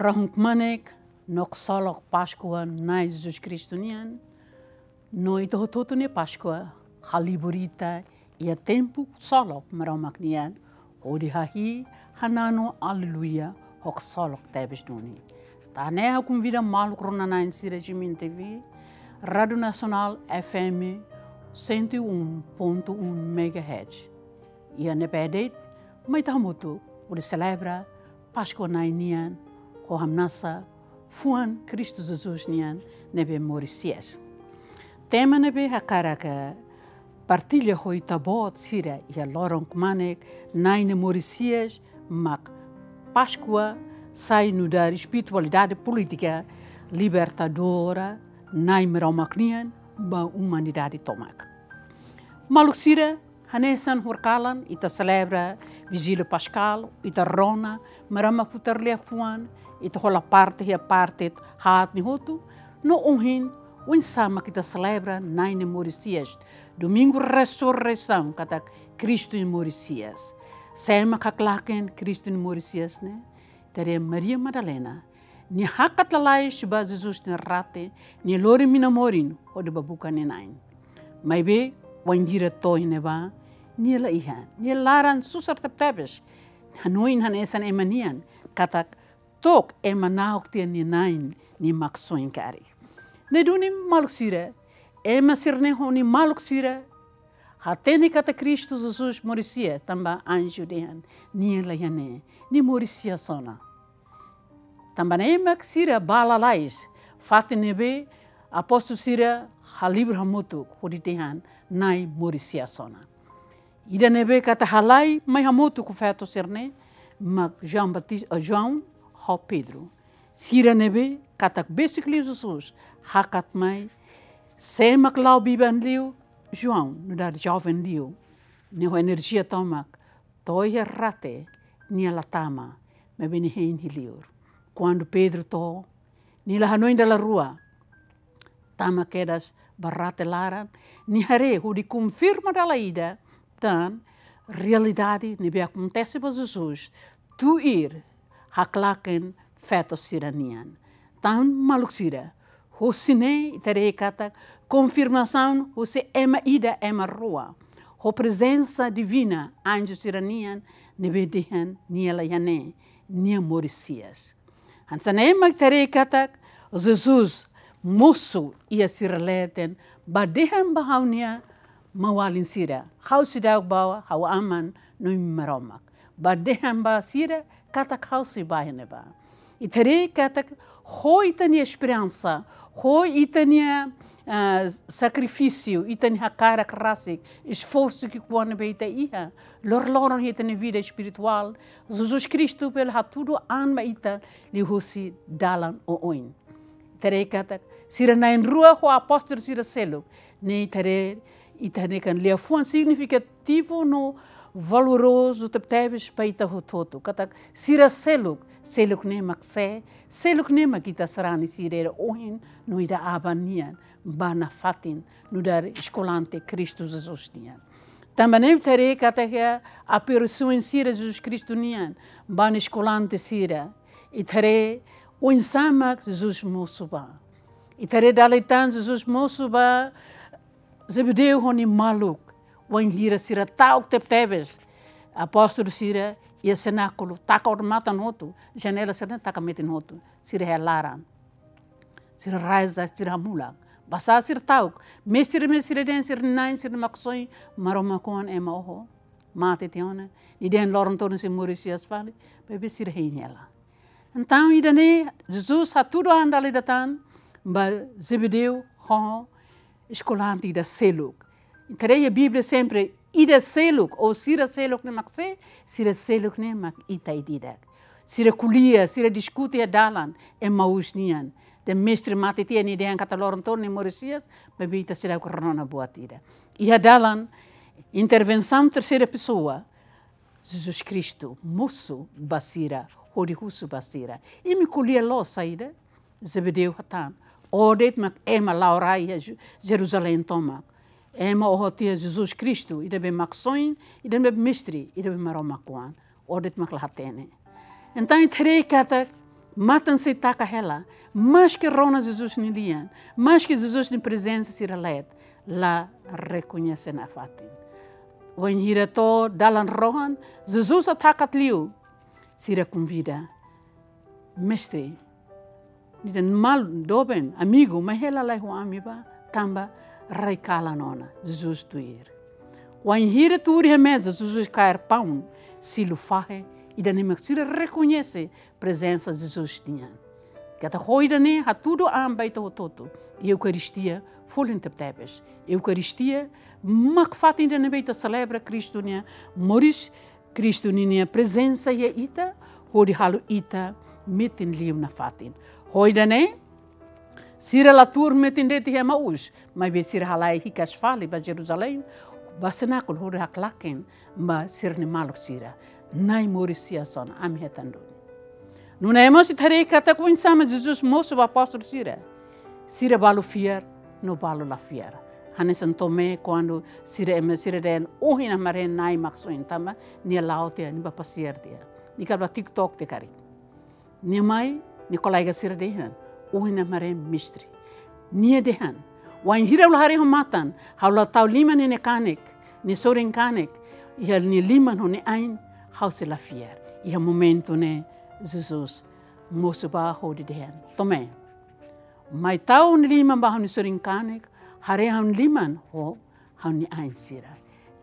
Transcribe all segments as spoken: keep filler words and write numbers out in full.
Rahun kmanek no ksolok Páskua Na'i Jesus Kristu nian, no ita hotu-hotu nia Páskua halibur ita iha tempu ksolok Maromak nian, hodi hahi'i, hananu, aleluia, ho ksolok tebes duni. Tan ne'e ha'u konvida maluk rona-na'in sira G M N T V, Rádio Nasionál F M cento e um ponto um megahertz. Iha ne'ebé de'it, mai ita hamutuk hodi selebra Páskua Na'i nian, ho hamnasa fuan Kristu Jesus nian ne'ebé moris hi'as. Tema ne'ebé hakarak partilla ho ita-boot sira iha loron kmanek, Na'i ne'e moris hi'as, mak Páskua sai nu'udar espiritualidade polítika libertadora Na'i Maromak nian ba umanidade tomak. Maluk sira, hanesan horikalan ita selebra Vijília Paskál, ita rona Maromak futar liafuan, ita hola parte iha parte haat nia hotu, no ohin, oinsá mak ita selebra Na'i ne'e moris hi'as, Domingu Resureisaun, katak Kristu ne'e moris hi'as. Sé mak haklaken Kristu ne'e moris hi'as ne'e? Ita haree Maria Madalena, nia hakat lalais ba Jesus nia rate, nia lori mina-morin hodi bá buka nia na'in. Maibé, wainhira to'o iha ne'ebá, nia la iha, nia laran susar tebetebes. Hanoin hanesan ema nian, katak to'ok ema na'ok tiha nia na'in, nia Maksoin karik. Ne'e duni maluk sira, ema sira-ne'e ho nia maluk sira hatene katak Kristu Jesus moris hi'as, tanba anju dehan nia la iha ne'e, nia moris hi'as ona. Tanba ne'e mak sira bá lalais, fatin ne'ebé apóstolu sira halibur hamutuk hodi dehan Na'i moris hi'as ona. Ida ne'ebé katak halai mai hamutuk ho feto sira-ne'e mak João Batis-, eh, João ho Pedro. Sira ne'ebé katak besik liu Jesus hakat mai, sé mak la'o biban liu, João, nu'udar joven liu, nia ho enerjia tomak, to'o iha rate, nia la tama, maibé nia hein iha li'ur. Kuandu Pedro to'o, nia la hanoin dala rua, tama kedas ba rate laran, nia haree hodi konfirma dala ida tan realidade ne'ebé akontese ba Jesus, tuir haklaken feto sira-nian. Tan maluk sira, husi ne'e ita haree katak konfirmasaun husi ema ida, ema rua, ho prezensa divina, anju sira-nian, ne'ebé dehan nia la iha ne'e, nia moris hi'as. Hanesan ne'e mak ita haree katak Jesus mosu iha sira leten, bá dehan ba ha'u-nia maun-alin sira, ha'u seidauk bá, ha'u Aman no Maromak. Bá dehan ba sira katak ha'u sei bá iha ne'ebá. Ita haree katak ho ita-nia esperansa, ho ita-nia, ah, sakrifísiu, ita-nia hakarak rasik, esforsu ki'ikoan ne'ebé ita iha, loroloron iha ita-nia vida espirituál, Jesus Kristu bele hatudu an ba ita liuhusi dalan oioin. Ita haree katak sira na'in-rua ho apóstolu sira seluk, ne'e ita haree, ita haree katak liafuan signifikativu no valorozu tebetebes ba ita hotu-hotu. Katak sira seluk, seluk ne'e mak sé, seluk ne'e mak ita sarani sira iha oin no iha aban nian, ba nafatin, nu'udar eskolante Kristu Jesus nian. Tanba ne'e ita haree katak iha aparisaun sira Jesus Kristu nian ba nia eskolante sira, ita haree oinsá mak Jesus mosu ba. Ita haree dala ida tan Jesus mosu ba Zebedeu ho nia maluk, wainhira sira ta'uk tebetebes. Apóstolu sira iha senákulu, taka odamatan hotu, janela sira-ne'e taka metin hotu, sira iha laran. Sira reza, sira hamulak. Basá sira ta'uk? Mestre, Mestre, dehan sira-nia na'in, sira-nia Maksoin, Maromak oan, ema oho mate tiha ona. Nia dehan loron todan sei moris hi'as fali, maibé sira hein hela. Entaun, ida-ne'e, Jesus hatudu an dala ida tan ba Zebedeu ho eskolante ida seluk. Ita haree iha Bíblia sempre ida seluk, ou sira seluk ne'e mak sé, sira seluk ne'e mak ita ida-idak. Sira ko'alia, sira diskute iha dalan, Emaús nian. Dehan Mestre mate tiha, nia dehan katak loron todan nia moris hi'as, maibé ita seidauk rona buat ida. Iha dalan, intervensaun terseira pesoa, Jesus Kristu mosu ba sira, hodi husu ba sira. Imi ko'alia loos saida? Zebedeu hatán: Ó de'it mak ema la'o rai iha Ju-, Jeruzalein tomak. Ema oho tiha Jesus Kristu, ida be Maksoin, ida be Mestre, ida be Maromak oan. Ó de'it mak la hatene. Entaun, ita haree katak Matan sei taka hela, maske rona Jesus nia lian, maske Jesus nia prezensa sira leet, la rekoñese nafatin. Wainhira to'o dalan rohan, Jesus atu hakat liu, sira konvida: Mestre, ida-ne'e malu, doben, amigu, mai hela lai ho ami bá, tanba rai kalan ona. Jesus tuir. Wainhira tuur iha meza, Jesus kaer paun, silu fahe, ida-ne'e mak sira rekoñese prezensa Jesus nian. Katak ho ida-ne'e hatudu an ba ita hotu-hotu. Eukaristia folin tebetebes. Eukaristia mak fatin ida ne'ebé ita selebra Kristu nia moris, Kristu ninia prezensa iha ita, hodi halo ita metin liu nafatin. Ho ida-ne'e, sira la tuur metin de'it iha Emaús, maibé sira halai hikas fali ba Jerusalém, ba senákulu, hodi haklaken ba sira-nia maluk sira: Na'i moris hi'as ona, ami hetan duni. Nune'e mós ita haree katak oinsá mak Jesus mosu ba apóstolu sira. Sira balu fiar, no balu la fiar. Hanesan Tomé, kuandu sira ema sira dehan: Ohin ami haree Na'i mak soin, tanba nia la'o tiha, nia bá pasiar tiha, nia kala bá TikTok tiha karik. Nia mai, nia kolega sira dehan: Ohin ami haree Mestre. Nia dehan: Wainhira ha'u la haree ho matan, ha'u la tau liman iha nia kanek, nia sorin kanek, iha nia liman ho nia ain, ha'u sei la fiar. Iha momentu ne'e, Jesus mosu bá hodi dehan: Tomé, mai tau nia liman bá ha'u-nia sorin kanek, haree ha'u-nia liman ho ha'u-nia ain sira.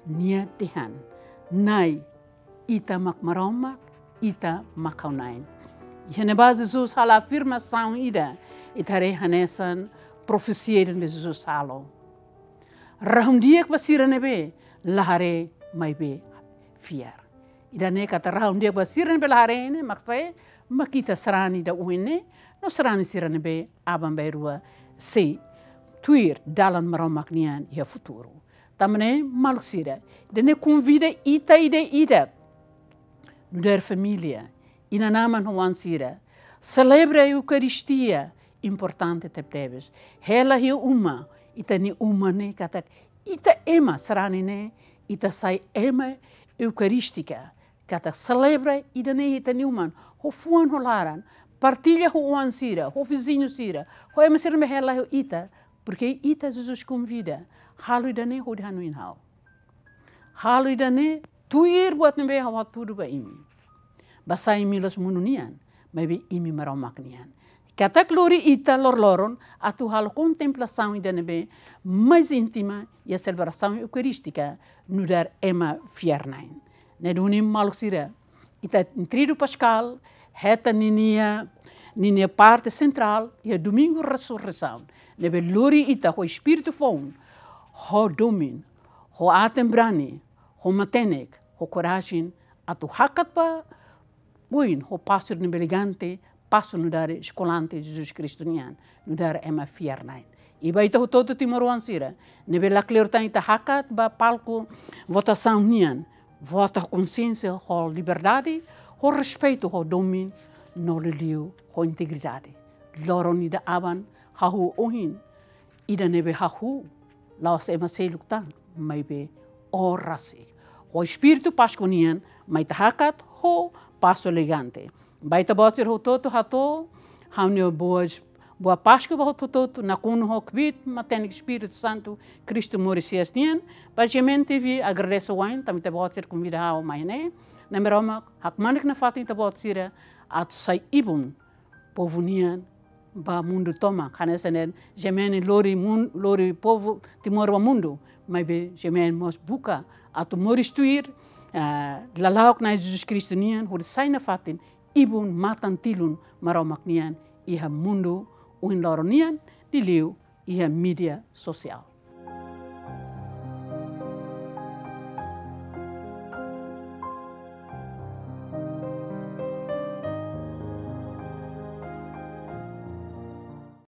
Nia dehan: Na'i, Ita mak Maromak, Ita mak ha'u-nia Na'i. Iha ne'ebá Jesus halo afirmasaun ida, ita haree hanesan profesia ida ne'ebé Jesus halo. Rahun-di'ak ba sira ne'ebé la haree, maibé fiar. Ida-ne'e katak rahun-di'ak ba sira ne'ebé la haree ne'e mak saida? Mak ita sarani ida ohin ne'e, no sarani sira ne'ebé aban-bainrua sei tuir dalan Maromak nian iha futuru. Tanba ne'e, maluk sira, ida-ne'e konvida ita ida-idak, nu'udar família, inan-aman ho oan sira, selebra Eukaristia, importante tebetebes. Hela iha uma, ita-nia uma ne'e katak ita ema sarani ne'e, ita sai ema eukarístika, katak selebra ida-ne'e ita-nia uma, ho fuan ho laran, partilla ho oan sira, ho viziñu sira, ho ema sira ne'ebé hela ho ita, porke ita Jesus konvida: Halo ida-ne'e hodi hanoin ha'u. Halo ida-ne'e tuir buat ne'ebé ha'u hatudu ba imi. Basá imi la'ós mundu nian, maibé imi Maromak nian. Katak lori ita loroloron atu halo kontemplasaun ida ne'ebé mais íntima iha selebrasaun eukarístika nu'udar ema fiar-na'in. Ne'e duni, maluk sira, ita Tridu Paskál hetan ninia, ninia parte sentrál iha Domingu Resurreisaun, ne'ebé lori ita ho espíritu foun, ho domin, ho aten-brani, ho matenek, ho korajen, atu hakat ba oin ho pasu ne'ebé elegante, pasu nu'udar eskolante Jesus Kristu nian, nu'udar ema fiar-na'in. I ba ita hotu-hotu timoroan sira ne'ebé la kleur tan ita hakat ba palku votasaun nian, vota ho konsiénsia, ho liberdade, ho respeitu, ho domin, no liuliu ho integridade. Loron ida aban, hahú ohin ida ne'ebé hahú la'ós ema seluk tan, maibé ó rasik. Ho espíritu Páskua nian, mai ita hakat ho pasu elegante. Ba ita-boot sira hotu-hotu hato'o ha'u-nia boas, boa Páskua ba hotu-hotu, nakonu ho kbiit matenek Espíritu Santu, Kristu moris hi'as nian. Ba G M N T V, agradese wa'in, tanba ita-boot sira konvida ha'u mai ne'e. Na'i Maromak hakmanek nafatin ita-boot sira, atu sai ibun povu nian ba mundu tomak. Hanesan G M N lori mun-, lori povu Timor ba mundu, maibé G M N mós buka atu moris tuir, ah, lala'ok Na'i Jesus Kristu nian, hodi sai nafatin ibun matan-tilun Maromak nian iha mundu ohin loron nian, liuliu iha mídia sosiál.